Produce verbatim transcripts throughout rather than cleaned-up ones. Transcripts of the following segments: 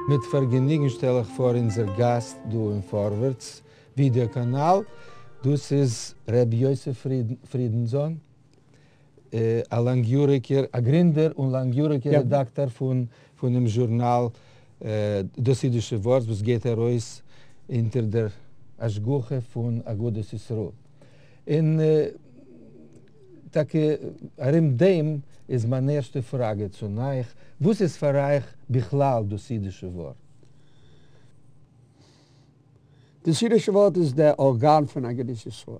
מיט פארגעניגן שטעל איך פאר אונזער גאסט דא אין פארווערטס ווידעא קאנאל, דאס איז ר' יוסף פרידנזאן, א לאנגיאריגער, א גרינדער און לאנגיאריגער רעדאקטאר פון פונעם זשורנאל דאס אידישע ווארט וואס גייט ארויס אונטער דער השגחה פון אגודת ישראל. און טאקע ארום דעם איז מיין ערשטע פראגע צו אייך, וואס איז פאר אייך בכלל דאס אידישע ווארט? דאס אידישע ווארט איז דער ארגאן פון אגודת ישראל.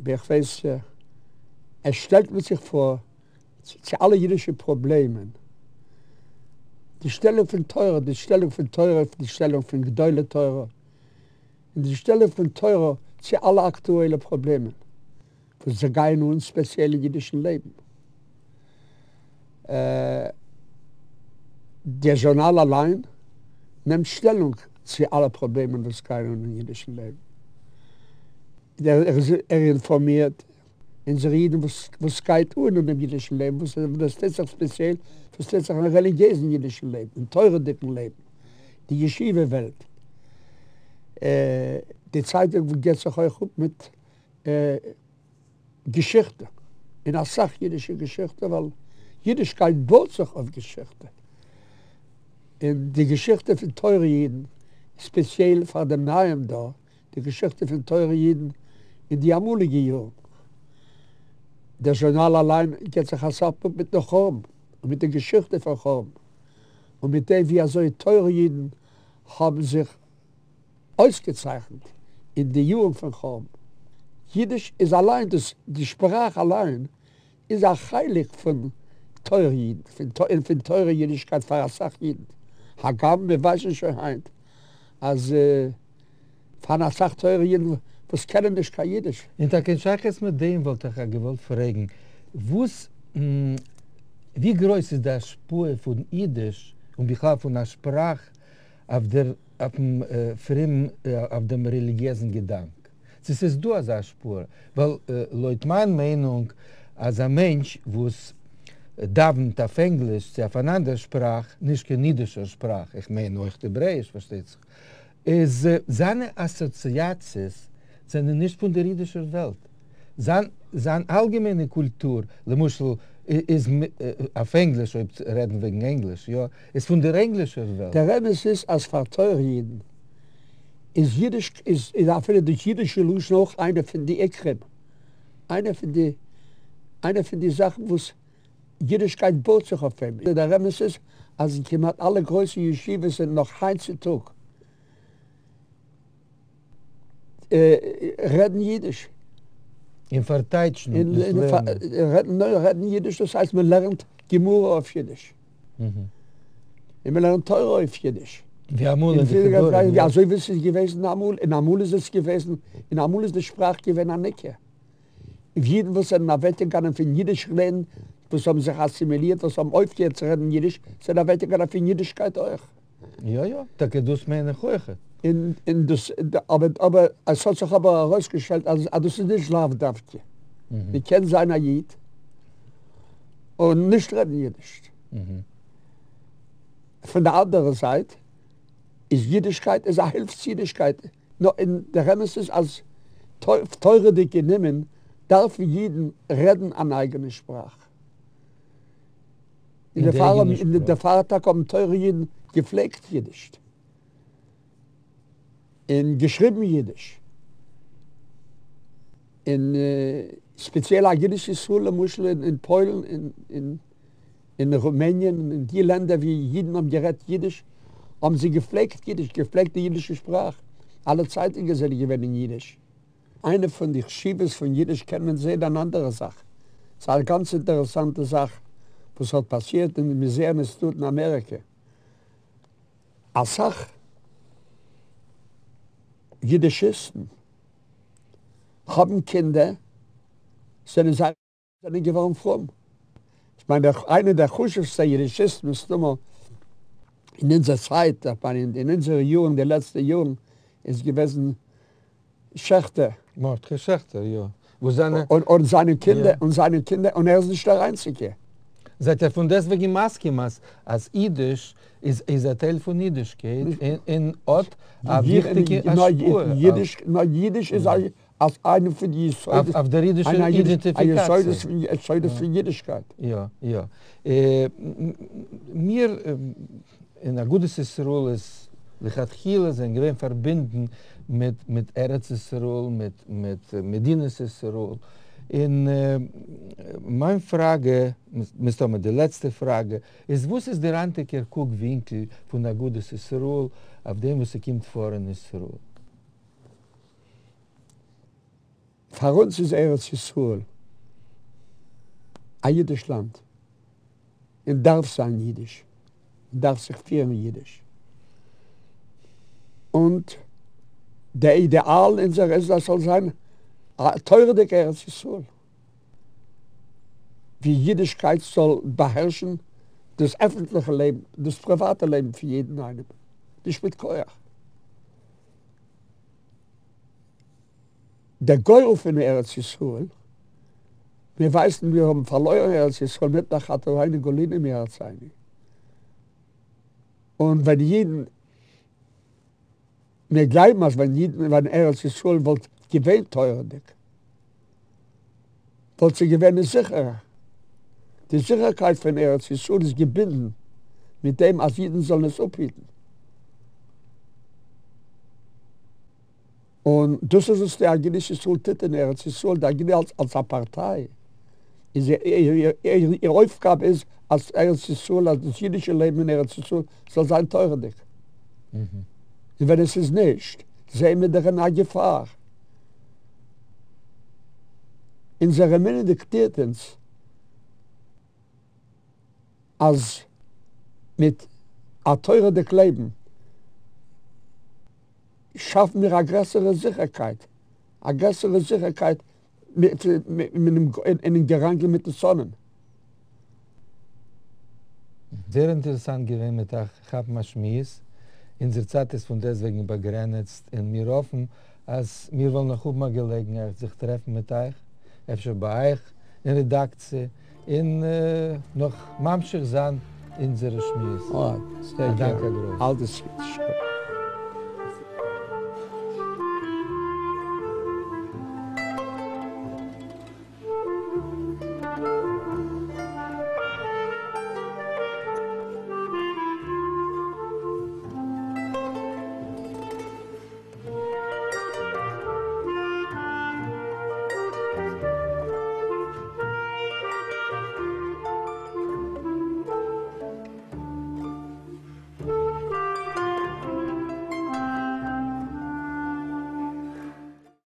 ווי איך ווייס, עס שטעלט מיט זיך פאר צו אלע אידישע פראבלעמען, די שטעלונג פון תורה, די שטעלונג פון תורה, די שטעלונג פון גדולי תורה, און די שטעלונג פון תורה צו אלע אקטועלע פראבלעמען וואס זיי גייען אן ספעציעל אין אידישן לעבן. דער זשורנאל אליין נעמט שטעלונג צו אלע פראבלעמען וואס גייען אן אין אידישן לעבן. ער אינפארמירט אונזערע אידן וואס גייט אן אין דעם אידישן לעבן, וואס דאס טוט זיך ספעציעל, וואס טוט זיך אין רעליגיעזן אידישן לעבן, אין תורה'דיגן לעבן, די ישיבה וועלט. די צייטונג גיבט זיך אויך אפ מיט געשיכטע, און אסאך אידישע געשיכטע, ווייל אידישקייט בויט זיך אויף געשיכטע, און די געשיכטע פון תורה אידן, ספעציעל פאר דעם נייעם דור, די געשיכטע פון תורה אידן אין די אמאליגע יארן. דער זשורנאל אליין גיבט זיך אסאך אפ מיטן חורבן, און מיט די געשיכטע פון חורבן, און מיט דעם ווי אזוי תורה אידן האבן זיך אויסגעצייכנט אין די יארן פון חורבן. אידיש איז אליין, דאס די שפראך אליין איז א חלק פון תורה אידן, און פון תורה אידישקייט פאר אסאך אידן. הגם מיר ווייסן שוין היינט אז פארהאן אסאך תורה אידן וואס קענען נישט קיין אידיש. און טאקע אין שייכות מיט דעם וואלט איך געוואלט פרעגן, וואס ווי גרויס איז די השפעה פון אידיש און בכלל פון א שפראך אויף דער אויפן פרום אויף דעם רעליגיעזן געדאנק? צו ס'איז דא אזא השפעה? ווייל לויט מיין מיינונג אז א מענטש וואס דאווענט אויף ענגליש צו אויף אן אנדער שפראך, נישט קיין אידישער שפראך, איך מיין אויך העברעאיש פארשטייט זיך, איז זיינע אסאציאציעס זענען נישט פון דער אידישער וועלט. זיין זיין אלגעמיינע קולטור, למשל, איז אויף ענגליש, אויב רעדן וועגן ענגליש, יא, איז פון דער ענגלישער וועלט. דער אמת איז אז פאר תורה אידן איז אידיש, איז אפילו די אידישע לשון אויך איינע פון די עיקרים, איינע פון די, איינע פון די זאכן וואס אידישקייט בויט זיך אויף אים. דער אמת איז אז אין כמעט אלע גרויסע ישיבות זענען נאך היינט צו טאג רעדן אידיש. און פארטייטשן דאס לערנען. רעדן אידיש דאס הייסט מען לערנט גמרא אויף אידיש. און מען לערנט תורה אויף אידיש. ווי אמאל אין די חדרים, יא. אזוי ווי עס איז געוועזן אמאל, און אמאל איז עס געוועזן, און אמאל איז די שפראך געווען אן עיקר. אידן וואס זענען אוועקגעגאנגען פון אידיש רעדן, וואס האבן זיך אסימילירט, וואס האבן אויפגעהערט צו רעדן אידיש, זענען אוועקגעגאנגען פון אידישקייט אויך. יא יא, טאקע דאס מיין איך אויך. און און דאס אבער אבער עס האט זיך אבער ארויסגעשטעלט אז אז דאס איז נישט לאו דווקא. מען קען זיין א איד און נישט רעדן אידיש. פון די אנדערע זייט איז אידישקייט איז א הילף צו אידישקייט. נאר און דער אמת איז אז תורה'דיג גענומען דארפן אידן רעדן אן אייגענע שפראך. און דערפאר האבן און דערפאר טאקע האבן תורה אידן געפלעגט אידיש. און געשריבן אידיש. און ספעציעל אגודת ישראל למשל אין פוילן און אין רומעניען און אין די לענדער ווי אידן האבן גערעדט אידיש האבן זיי געפלעגט אידיש, געפלעגט די אידישע שפראך. אלע צייטונגען זענען געווען אין אידיש. איינע פון די חשיבות פון אידיש קען מען זען אן אנדערע זאך. ס'איז א גאנץ אינטערעסאנטע זאך וואס האט פאסירט און מיר זעען עס דא אין אמעריקע. אסאך אידישיסטן האבן קינדער זענען זיי זענען געווארן פרום. איך מיין דער איינער דער חשובסטע אידישיסט מסתמא אין אונזער צייט, איך מיין אין אונזערע יארן, די לעצטע יארן, איז געוועזן שעכטער. מרדכי שעכטער, יא. וואס זיינע. און און זיינע קינדער, און זיינע קינדער, און ער איז נישט דער איינציגער. זייט איר פון דעסטוועגן מסכים אז אז אידיש איז איז א טייל פון אידישקייט און האט א וויכטיגע השפעה אידיש נאר אידיש איז אלס איינע פון די יסודות אויף דער אידישער אידענטיפיקאציע. יסודות פון אידישקייט. יא יא. מיר אין אגודת ישראל איז לכתחילה זענען געווען פארבינדן מיט מיט ארץ ישראל מיט מיט מדינת ישראל און מיין פראגע, מסתמא די לעצטע פראגע, איז וואס איז דער היינטיגער קוק ווינקל פון אגודת ישראל אויף דעם וואס ס'קומט פאר אין ישראל? פאר אונז איז ארץ ישראל א אידיש לאנד און דארף זיין אידיש און דארף זיך פירן אידיש, און דער אידעאל אונזער איז אז ס'זאל זיין א תורה'דיגע ארץ ישראל ווי אידישקייט זאל באהערשן דאס עפנטליכע לעבן, דאס פריוואטע לעבן פון יעדן איינעם, נישט מיט כח. דער גורל פון ארץ ישראל, מיר ווייסן מיר האבן פארלוירן ארץ ישראל מפני חטאינו גלינו מארצינו, און ווען אידן, מיר גלייבן אז ווען אידן, ווען ארץ ישראל וואלט געווען תורה'דיג, וואלט זי געווען זיכערער. די זיכערקייט פון ארץ ישראל איז געבינדן מיט דעם אז אידן זאלן עס אפהיטן. און דאס איז וואס די אגודת ישראל טוט אין ארץ ישראל, די אגודה אלס אלס א פארטיי, איז איר אויפגאבע איז אז ארץ ישראל, אז דאס אידישע לעבן אין ארץ ישראל זאל זיין תורה'דיג. און ווען עס איז נישט, זעען מיר דאך אין א געפאר. אונזער אמונה דיקטירט אונז אז מיט א תורה'דיג לעבן שאפן מיר א גרעסערע זיכערקייט, א גרעסערע זיכערקייט אינעם געראנגל מיט די שונאים. זייער אינטערעסאנט געווען מיט אייך כאפן א שמועס, אונזער צייט איז פון דעסטוועגן באגרעניצט און מיר האפן אז מיר וועלן נאך האבן א געלעגנהייט זיך טרעפן מיט אייך, אפשר ביי אייך אין רעדאקציע, און נאך ממשיך זיין אונזערע שמועסן. א דאנק א גרויסן. אלדעס גוטס.